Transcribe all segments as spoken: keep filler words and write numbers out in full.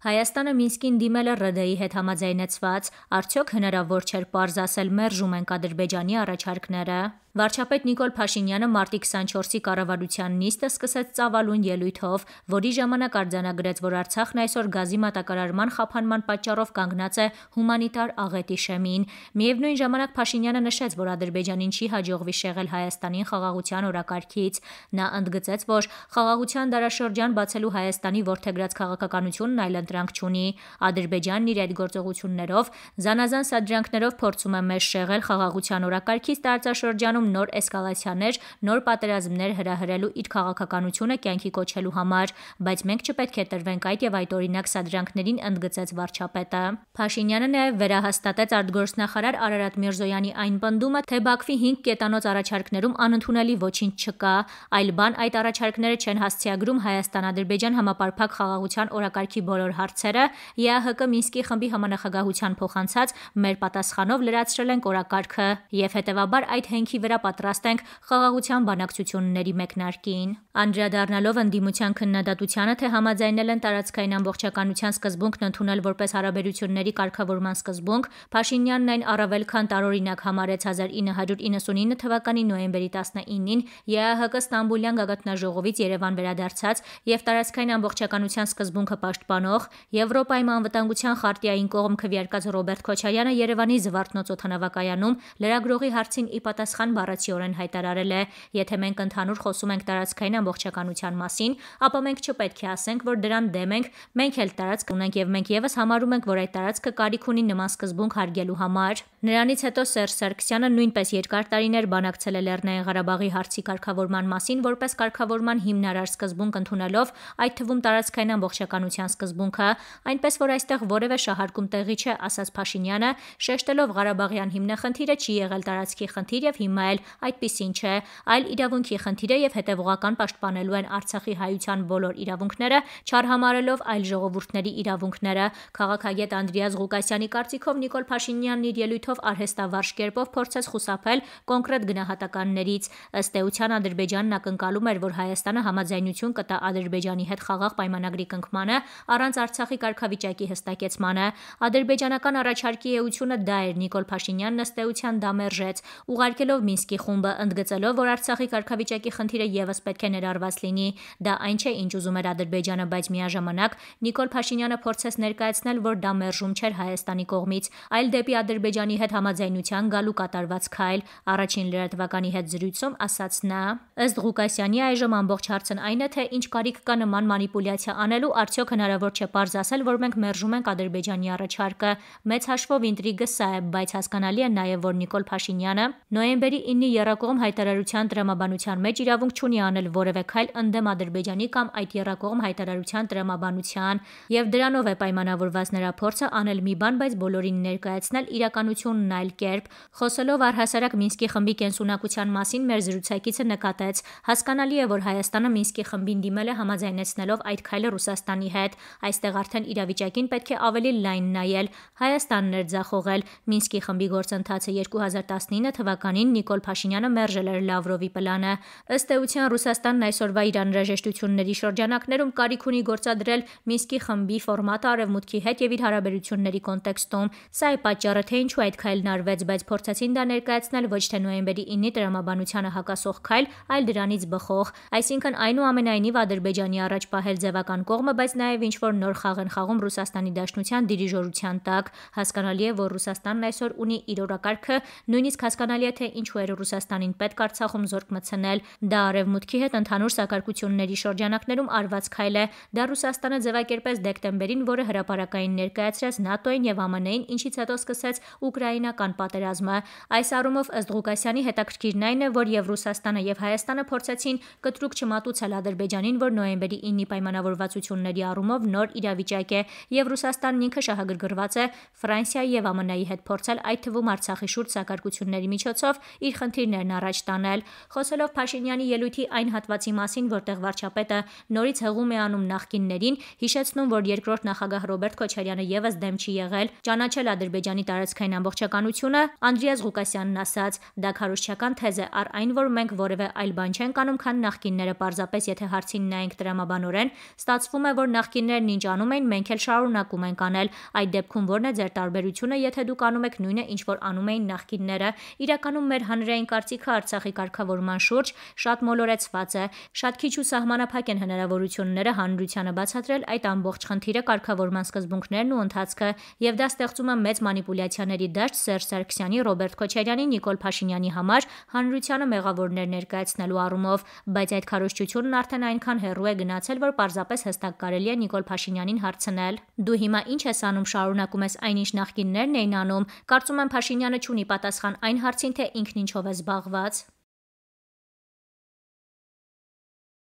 Հայաստանը Մինսկին դիմել է Ռ Դ-ի հետ համաձայնեցված, արդյոք հնարավոր չէր պարզ ասել մերժում ենք Ադրբեջանի առաջարկները։ Վարչապետ Նիկոլ Փաշինյանը մարտի քսանչորսի կառավարության նիստը սկսեց ծավալուն ելույթով, որի ժամանակ արձանագրեց, որ Արցախն այսօր գազի մատակարարման խափանման պատճառով կանգնած է հումանիտար աղետի շեմին։ Միևնույն ժամանակ Փաշինյանը նշեց, որ Ադրբեջանին չի հաջողվի շեղել Հայաստանին խաղաղության օրակարգից։ Նա ընդգծեց, որ խաղաղության դարաշրջան բացելու Հայաստանի որդեգրած քաղաքականությունն այլընտրանք չունի։ Ադրբեջանն իր այդ գործողություններով, զանազան սադրանքներով փորձում է մեզ շեղել խաղաղության օրակարգից տարածաշրջանում նոր էսկալացիաներ, նոր պատերազմներ հրահրելու իր քաղաքականությունը կյանքի կոչելու համար, բայց մենք չպետք է տրվենք այդ եւ այդ օրինակ սադրանքներին, ընդգծեց վարչապետը։ Փաշինյանը նաեւ վերահաստատեց արտգործնախարար Արարատ Միրզոյանի այն պնդումը, թե Բաքվի հինգ կետանոց առաջարկներում անընդունելի ոչինչ չկա, այլ բան այդ առաջարկները չեն հասցեագրում Հայաստան-Ադրբեջան համապարփակ խաղաղության օրակարգի բոլոր հարցերը, Ե Ա Հ Կ Մինսկի խմբի համանախագահության փոխանցած մեր պատասխանով լրացրել ենք օրակարգը եւ հետեւաբար այդ հենքի վրա պատրաստ ենք խաղաղության բանակցությունների մեկնարկին։ Անդրադառնալով ընդդիմության քննադատությանը, թե համաձայնել են տարածքային ամբողջականության սկզբունքն ընդունել որպես հարաբերությունների կարգավորման սկզբունք, Փաշինյանն այն առավել քան տարօրինակ համարեց հազար ինը հարյուր իննսունինը թվականի նոյեմբերի տասնինին Ե Ա Հ Կ Ստամբուլյան գագաթնաժողովից Երևան վերադարձած եւ տարածքային ամբողջականության սկզբունքը պաշտպանող Եվրոպայի անվտանգության խարտիային կողմ քվեարկած Ռոբերտ Քոչարյանը Երևանի Զվարթնոց օդանավակայանում լրագրողի հարցին ի պատասխան բառացիորեն հայտարարել է. եթե մենք ընդհանուր խոսում ենք տարածքային ամբողջականության մասին, ապա մենք չպետք է ասենք, որ դրան դեմ ենք, մենք էլ տարածք ունենք եւ մենք եւս համարում ենք, որ այդ տարածքը կարիք ունի նման սկզբունք հարգելու համար։ Նրանից հետո Սերժ Սարգսյանը նույնպես երկար տարիներ բանակցել է Լեռնային Ղարաբաղի հարցի կարգավորման մասին, որպես կարգավորման հիմնարար սկզբունք ընդունելով, այդ թվում տարածքային ամբողջականության սկզբունքը, այնպես որ այստեղ որևէ շահարկում տեղի չէ, ասաց Փաշինյանը, շեշտելով Ղարաբաղյան հիմնախնդիրը չի եղել տարածքի խնդիր եւ հիմա էլ այդպիսին չէ, այլ իրավունքի խնդիր է եւ հետեւողական պաշտպանելու են Արցախի հայության բոլոր իրավունքները, չարհամարելով այլ ժողովուրդների իրավունքները։ Քաղաքագետ Անդրեաս Ղուկասյանի կարծիքով Նիկոլ Փաշինյանն իր ելույթով արհեստավարժ կերպով փորձեց խուսափել կոնկրետ գնահատականներից։ Ըստ էության Ադրբեջանն ակնկալում էր, որ Հայաստանը համաձայնություն կտա Ադրբեջանի հետ խաղաղ պայմանագրի կնքմանը առանց Արցախի կարգավիճակի հստակեցմանը։ Ադրբեջանական առաջարկի էությունը դա էր, Նիկոլ Փաշինյանն ըստ էության դա մերժեց, ուղարկելով Մինսկի խումբը, ընդգծելով, որ Արցախի կարգավիճակի խնդիրը եւս պետք է ներառված լինի։ Դա այն չէ, ինչ ուզում էր Ադրբեջանը, բայց միաժամանակ Նիկոլ Փաշինյանը փորձեց ներկայացնել, որ դա մերժում չէր Հայաստանի կողմից, այլ դեպի Ադրբեջանի հետ համաձայնության գալու կատարված քայլ, առաջին լրատվականի հետ զրույցում ասաց նա։ Ըստ Ղուկասյանի այժմ ամբողջ հարցն այն է, թե ինչ կարիք կա նման մանիպուլյացիա անելու, արդյոք հնարավոր չէ պարզ ասել, որ մենք մերժում ենք Ադրբեջանի առաջարկը։ Մեծ հաշվով ինտրիգը սա է, բայց հասկանալի է նաեւ, որ Նիկոլ Փաշինյանը նոյեմբերի իննի եռակողմ հայտարարության տրամաբանության մեջ իրավունք չունի անել որևէ քայլ ընդդեմ Ադրբեջանի կամ այդ եռակողմ հայտարարության տրամաբանության, եւ դրանով է պայմանավորված նրա փորձը անել մի բան, բայց բոլորին ներկայացնել իրականությունն այլ կերպ։ Խոսելով առհասարակ Մինսկի խմբի կենսունակության մասին, մեր զրուցակիցը նկատեց. հասկանալի է, որ Հայաստանը Մինսկի խմբին դիմել է համաձայնեցնելով այդ քայլը Ռուսաստանի հետ։ Այստեղ արդեն իրավիճակին պետք է ավելի լայն նայել։ Հայաստանն էր ձախողել։ Մինսկի խմբի գործընթացը երկու հազար տասնինը թվականին Նիկոլ Փաշինյանը մերժել էր Լավրովի պլանը։ Ըստ էության Ռուսաստանն այսօրվա իր անհրաժեշտությունների շրջանակներում կարիք ունի գործադրել Մինսկի խմբի ֆորմատը Արևմուտքի հետ եւ իր հարաբերությունների կոնտեքստում։ Սա է պատճառը, թե ինչու այդ քայլն արվեց, բայց փորձեցին դա ներկայացնել ոչ թե նոյեմբերի իննի տրամաբանությանը հակասող քայլ, այլ դրանից բխող։ Այսինքն այնուամենայնիվ Ադրբեջանի առաջ պահել ձևական կողմը, բայց նաեւ ինչ որ նոր խաղ են խաղում Ռուսաստանի Դաշնության դիրիժորության տակ։ Հասկանալի է, որ Ռուսաստանն այսօր ունի իր օրակարգը, նույնիսկ հասկանալի է, թե ինչու էր Ռուսաստանին պետք Արցախում զորք մտցնել։ Դա Արևմուտքի հետ ընդհանուր սակարկությունների շրջանակներում արված քայլ է։ Դա Ռուսաստանը ձևակերպեց դեկտեմբերին, որը հրապարակային ներկայացրեց ՆԱՏՕ-ին եւ Ամն Ին, ինչից հետո սկսեց ուկրաինական պատերազմը։ Այս առումով ըստ Ղուկասյանի հետաքրքիրն այն է, որ եւ Ռուսաստանը եւ Հայաստանը փորձեցին կտրուկ չմատուցել Ադրբեջանին, որ նոյեմբերի իննի պայմանավորվածությունների առումով նոր իրավիճակ է, եւ Ռուսաստանն ինքը շահագրգռված է Ֆրանսիայի եւ Ամն Ի հետ փորձել այդ թվում Արցախի շուրջ սակարկությունների միջոցով իր իր խնդիրներն առաջ տանել։ Խոսելով Փաշինյանի ելույթի այն հատվածի մասին, որտեղ վարչապետը նորից հղում է անում նախկիններին, հիշեցնում, որ երկրորդ նախագահ Ռոբերտ Քոչարյանը ևս դեմ չի եղել ճանաչել Ադրբեջանի տարածքային ամբողջականությունը, Անդրեաս Ղուկասյանն ասաց. «Դա քարոզչական թեզ է, առ այն, որ մենք որևէ այլ բան չենք անում, քան նախկինները, պարզապես եթե հարցին նայենք տրամաբանորեն, ստացվում է, որ նախկիններն ինչ անում էին, մենք էլ շարունակում ենք անել։ Այդ դեպքում ո՞րն է ձեր տարբերությունը, եթե դուք անում եք նույնը, ինչ որ անում էին նախկինները։ Իրականում մեր հանրային կարծիքը Արցախի կարգավորման շուրջ շատ մոլորեցված է։ Շատ քիչ ու սահմանափակ են հնարավորությունները հանրությանը բացատրել այդ ամբողջ խնդիրը, կարգավորման սկզբունքներն ու ընթացքը, եւ դա ստեղծում է մեծ մանիպուլյացիաների դաշտ Սերժ Սարգսյանի, Ռոբերտ Քոչարյանի, Նիկոլ Փաշինյանի համար հանրությանը մեղավորներ ներկայացնելու առումով, բայց այդ քարոզչությունն արդեն այնքան հեռու է գնացել, որ պարզապես հստակ կարելի է Նիկոլ Փաշինյանին հարցնել. «Դու հիմա ինչ ես անում, շարունակում ես այնինչ նախկիններն էին անում»։ Կարծում եմ Փաշինյանը չունի պատասխան այն հարցին, թե ինքն ինչով է զբաղված։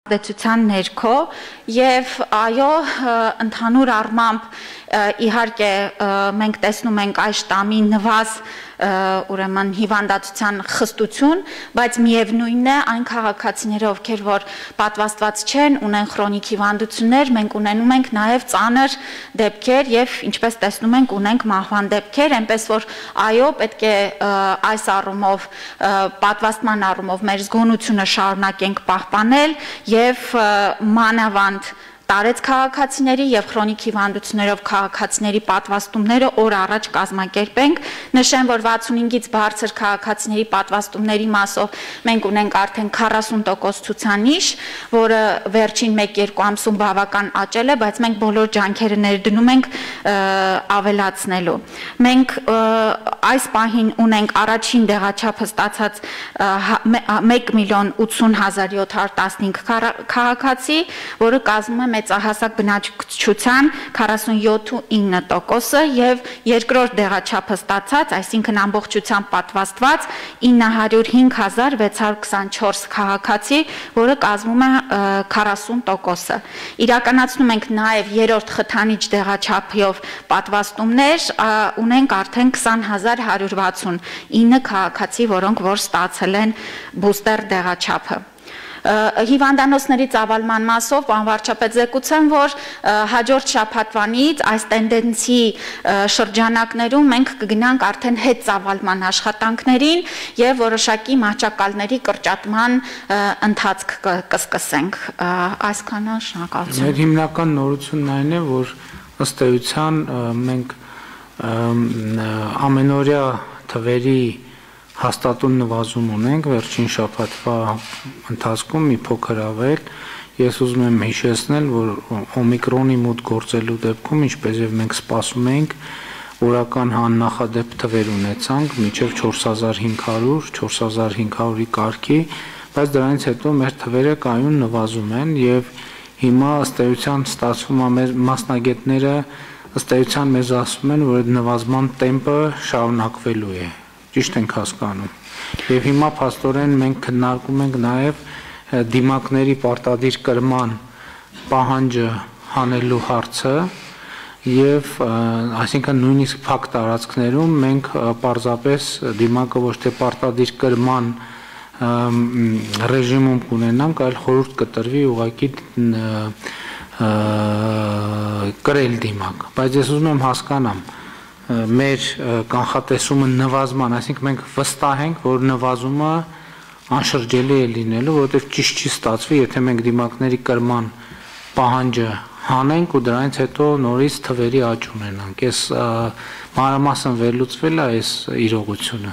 Դեցության ներքո եւ այո, ընդհանուր առմամբ իհարկե մենք տեսնում ենք այս շտամի նվազ ուրեմն հիվանդացության խստություն, բայց միևնույնն է այն քաղաքացիները, ովքեր որ պատվաստված չեն, ունեն քրոնիկ հիվանդություններ, մենք ունենում ենք նաև ծանր դեպքեր եւ ինչպես տեսնում ենք ունենք մահվան դեպքեր, այնպես որ այո, պետք է այս առումով պատվաստման առումով մեր զգոնությունը շարունակենք պահպանել եւ մանավանդ տարեց քաղաքացիների եւ քրոնիկ հիվանդություններով քաղաքացիների պատվաստումները օր առաջ կազմակերպենք։ Նշեմ, որ վաթսունհինգից բարձր քաղաքացիների պատվաստումների մասով մենք ունենք արդեն քառասուն տոկոս ցուցանիշ, որը վերջին մեկ-երկու ամսում բավական աճել է, բայց մենք բոլոր ջանքերը ներդնում ենք ավելացնելու։ Մենք այս պահին ունենք առաջին դեղաչափը ստացած մեկ միլիոն ութսուն հազար յոթ հարյուր տասնհինգ քաղաքացի, որը կազմում է մեծահասակ բնակչության քառասունյոթ ու ինը տոկոսը եւ երկրորդ դեղաչափը ստացած, այսինքն ամբողջությամբ պատվաստված ինը հարյուր հինգ հազար վեց հարյուր քսանչորս քաղաքացի, որը կազմում է քառասուն տոկոսը։ Իրականացնում ենք նաեւ երրորդ խթանիչ դեղաչափով պատվաստումներ, ունենք արդեն քսան հազար հարյուր վաթսուն ինը քաղաքացի, որոնք որ ստացել են բուստեր դեղաչափը։ Հիվանդանոցների ծավալման մասով պարոն վարչապետ զեկուցեմ, որ հաջորդ շաբաթվանից այս տենդենսի շրջանակներում մենք կգնանք արդեն հետ ծավալման աշխատանքներին եւ որոշակի մահճակալների կրճատման ընթացք կսկսենք։ Այսքանը, շնորհակալություն։ Մեր հիմնական նորությունն այն է, որ ըստ էության մենք ամենօրյա թվերի հաստատուն նվազում ունենք վերջին շաբաթվա ընթացքում մի փոքր ավել։ Ես ուզում եմ հիշեցնել, որ օմիկրոնի մոտ գործելու դեպքում, ինչպես եւ մենք սպասում էինք, օրական աննախադեպ թվեր ունեցանք մինչեւ չորս հազար հինգ հարյուր, չորս հազար հինգ հարյուրի կարգի, բայց դրանից հետո մեր թվերը կայուն նվազում են եւ հիմա ըստ էության ստացվում է մեր մասնագետները ըստ էության մեզ ասում են, որ այդ նվազման տեմպը շարունակվելու է։ Ճիշտ ենք հասկանում։ Եվ հիմա փաստորեն մենք քննարկում ենք նաև դիմակների պարտադիր կրման պահանջը հանելու հարցը եւ այսինքն նույնիսկ փակ տարածքներում մենք պարզապես դիմակը ոչ թե պարտադիր կրման ռեժիմում կունենանք, այլ խորհուրդ կտրվի ուղղակի կրել դիմակ։ Բայց ես ուզում եմ հասկանամ մեր կանխատեսումը նվազման, այսինքն մենք վստահ ենք, որ նվազումը անշրջելի է լինելու, որովհետև ճիշտ չի ստացվի, եթե մենք դիմակների կրման պահանջը հանենք ու դրանից հետո նորից թվերի աճ ունենանք։ Այս մանրամասն վերլուծվել է այս իրողությունը։